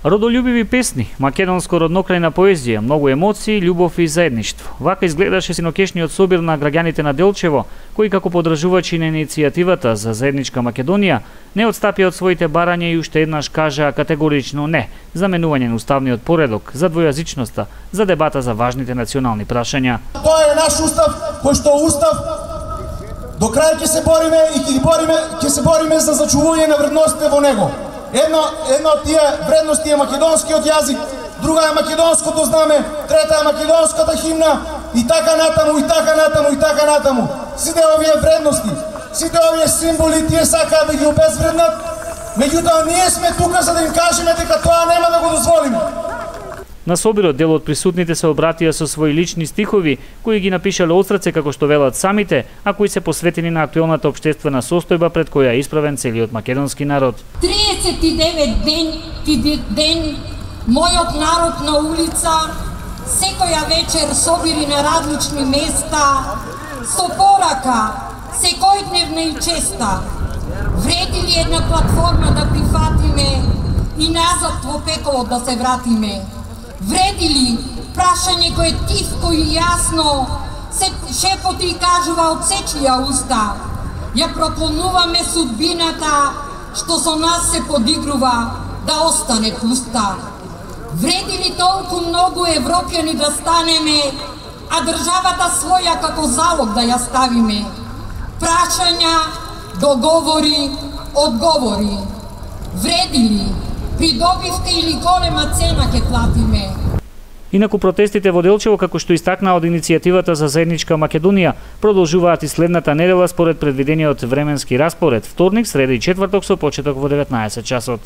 Родолюбиви песни, македонско роднокрајна поезија, многу емоции, љубов и заедништво. Вака изгледаше синокешниот собир на граѓаните на Делчево, кои како подржувачи на иницијативата за заедничка Македонија не отстапија од своите барања и уште еднаш кажаа категорично не за менување на уставниот поредок, за двојазичноста, за дебата за важните национални прашања. Тоа е наш устав, кој што устав до крај ќе се бориме и ќе се бориме за зачувување на вредностите во него. Една од тие вредности е македонскиот јазик, друга е македонското знаме, трета е македонската химна и така натаму, и така натаму, и така натаму. Сите овие вредности, сите овие символи тие сакаат да ги обезвреднат, меѓутоа ние сме тука за да им кажеме дека тоа нема да го дозволиме. На собирот дел од присутните се обратија со своји лични стихови, кои ги напишале од срце како што велат самите, а кои се посветени на актуелната општествена состојба пред која е исправен целиот македонски народ. 39 ден мојот народ на улица, секоја вечер собири на различни места, со порака, секојдневна и честа. Вреди ли една платформа да прифатиме и назад во пеколот да се вратиме? Вреди ли прашање кое тивко и јасно се шепоти и кажува од сечија уста? Ја проклонуваме судбината што со нас се подигрува да остане пуста. Вреди ли толку многу европјани да станеме, а државата своја како залог да ја ставиме? Прашања, договори, одговори. Вреди ли? Придобивка или голема цена ќе платиме. Инаку протестите во Делчево, како што истакна од иницијативата за заедничка Македонија, продолжуваат и следната недела според предвидениот временски распоред, вторник, среда и четврток со почеток во 19 часот.